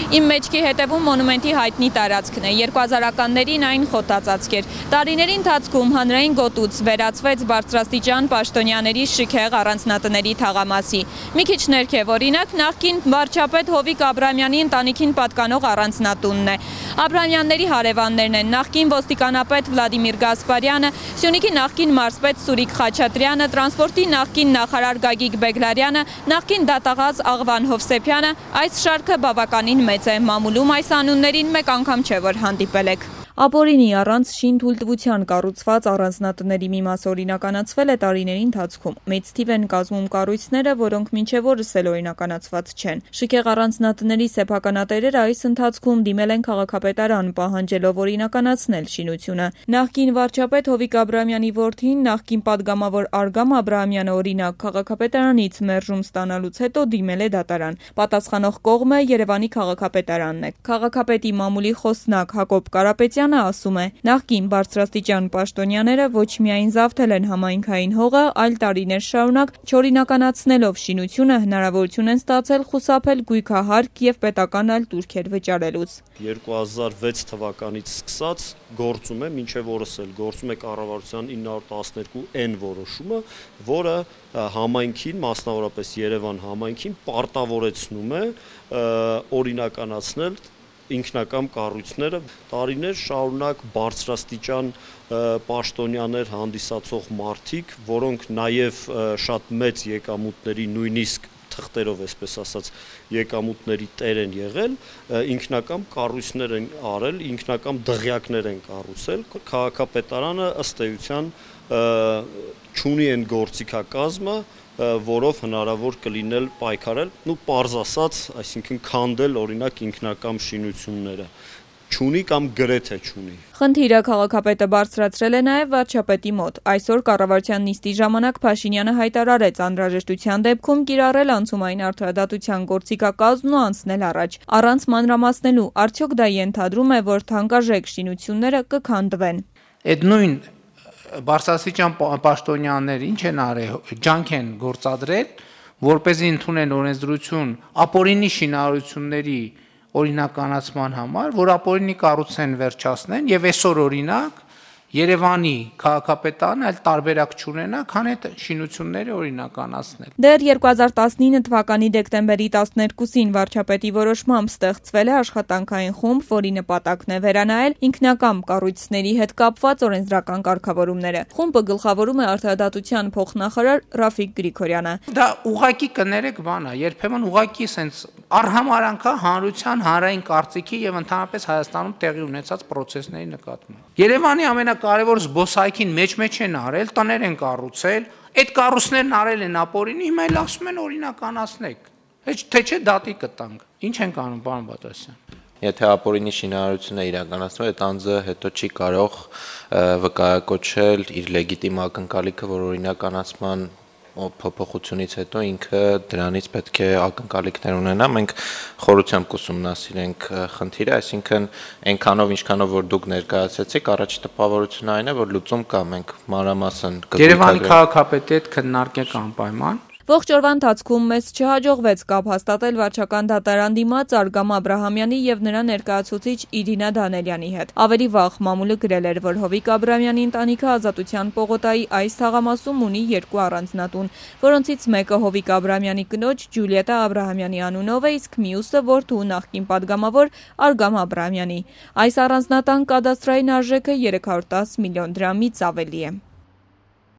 Իմ մեջքի հետևում մոնումենտի հայտնի տարածքն է, 2000-ականներին այն խոտածածկ էր։ Տարիների ընթացքում հանրային գոտուց վերածվեց բարձրաստիճան պաշտոնյաների շքեղ առանձնատների թաղամասի։ Մի քիչ ներքև օրինակ նախկին վարչապետ Հովիկ Աբրահամյանի ընտանիքին պատկանող առանձնատունն է։ Աբրահամյանների հարևաններն են նախկին ոստիկանապետ Վլադիմիր Գասպարյանը, Սյունիքի նախկին մարզպետ Սուրիկ Խաչատրյանը, տրանսպորտի նախկին նախարար Գագիկ Բեգլարյանը, նախկին դատաղաց Աղվան Հովսեփյանը, այս շարքը բավականին մեծ է, մամուլում այս անուններին մեկ անգամ չէ, որ հանդիպել եք։ Ապօրինի առանց շինթույլտվության կառուցված առանձնատների մի մասը օրինականացվել է տարիների ընթացքում։ Մեծ թիվ են կազմում կառույցները, որոնք մինչև օրս էլ օրինականացված չեն։ Շքեղ առանձնատների սեփականատերերը այս ընթացքում դիմել են քաղաքապետարան, պահանջելով օրինականացնել շինությունը։ Նախկին վարչապետ Հովիկ Աբրահամյանի որդին, նախկին падգամավոր Արգամ Աբրահամյանը օրինակ քաղաքապետարանից մերժում ստանալուց հետո դիմել է դատարան։ Պատասխանող կողմը Երևանի քաղաքապետարանն է։ Քաղաքապետի մամուլի խոսնակ Հակոբ Կարապետյանը ասում է. նախկին բարձրաստիճան պաշտոնյաները ոչ միայն զավթել են համայնքային հողը, այլ տարիներ շարունակ չօրինականացնելով շինությունը հնարավորություն են ստացել խուսափել գույքահարկ եւ պետական այլ տուրքեր վճարելուց։ 2006 թվականից սկսած գործում է, մինչև օրս էլ գործում է կառավարության 912N որոշումը, որը համայնքին, մասնավորապես Երևան համայնքին պարտավորեցնում է օրինականացնել ինքնակամ կառույցները տարիներ շարունակ բարձրաստիճան պաշտոնյաներ հանդիսացող մարդիկ, որոնք նաև շատ մեծ եկամուտների նույնիսկ թղթերով, այսպես ասած, եկամուտների տեր են եղել, ինքնակամ կառույցներ են արել, ինքնակամ դղյակներ են կառուցել, քաղաքապետարանը ըստ էության չունի այն գործիքակազմը, որով հնարավոր կլինել պայքարել, պարզ ասած, այսինքն քանդել օրինակ ինքնակամ շինությունները, չունի կամ գրեթե չունի։ Խնդիրը քաղաքապետը բարձրացրել է նաև վարչապետի մոտ։ Այսօր կառավարության նիստի ժամանակ Փաշինյանը հայտարարեց անհրաժեշտության դեպքում կիրառել անցումային արդարադատության գործիքակազմն ու անցնել առաջ։ Առանց մանրամասնելու, արդյոք դա ենթադրում է, որ թանկարժեք շինությունները կքանդվեն։ Այդ նույն բարձրաստիճան պաշտոնյաները ինչ են արել, ջանք են գործադրել, որպեսզի ընդունեն օրենսդրություն ապօրինի շինարարությունների օրինականացման համար, որ ապօրինի կառուցեն վերջացնեն եւ այսօր օրինակ Երևանի քաղաքապետարանը այլ տարբերակ չունենա, քան այդ շինությունները օրինականացնել։ Դեռ 2019 թվականի դեկտեմբերի 12-ին վարչապետի որոշմամբ ստեղծվել է աշխատանքային խումբ, որի նպատակն է վերանայել ինքնակամ կառույցների հետ կապված օրենսդրական կարգավորումները։ Խումբը գլխավորում է արդարադատության փոխնախարար Ռաֆիկ Գրիգորյանը։ Դա ուղղակի կներեք բան է, երբեմն ուղղակի սենց արհամարանքա հանրության հանրային կարծիքի եւ ընդհանրապես Հայաստանում տեղի ունեցած process-ների նկատմամբ։ Երևանի ամենակարևոր զբոսայգին մեջ են արել, տներ են կառուցել, այդ կառույցներն արել են ապօրինի, հիմա էլ ասում են օրինականացնեք։ Թե չէ դատի կտանք։ Ինչ են անում, պարոն Բատասյան։ Եթե ապօրինի շինարարությունը իրականացնում է, այդ անձը հետո չի կարող վկայակոչել իր լեգիտիմ ակնկալիքը, որ օրինականացման փոփոխությունից հետո ինքը դրանից պետք է ակնկալիքներ ունենա, մենք խորությամբ կուսումնասիրենք խնդիրը, այսինքն այնքանով ինչքանով որ դուք ներկայացրեցիք, առաջի տպավորությունը այն է, որ լուծում կա, մենք մանրամասն Երևանի քաղաքապետի հետ քննարկենք անպայման։ Ողջ օրվա ընթացքում մեզ չհաջողվեց կապ հաստատել վարչական դատարան դիմաց Արգամ Աբրահամյանի եւ նրա ներկայացուցիչ Իրինա Դանելյանի հետ։ Ավելի վաղ մամուլը գրել էր, որ Հովիկ Աբրահամյանի ընտանիքը Ազատության պողոտայի այս թաղամասում ունի 2 առանձնատուն, որոնցից մեկը Հովիկ Աբրահամյանի կնոջ Ջուլիետա Աբրահամյանի անունով է, իսկ մյուսը որդու նախկին падգամավոր Արգամ Աբրահամյանի։ Այս առանձնատան կադաստրային արժեքը 310 միլիոն դրամից ավելի է։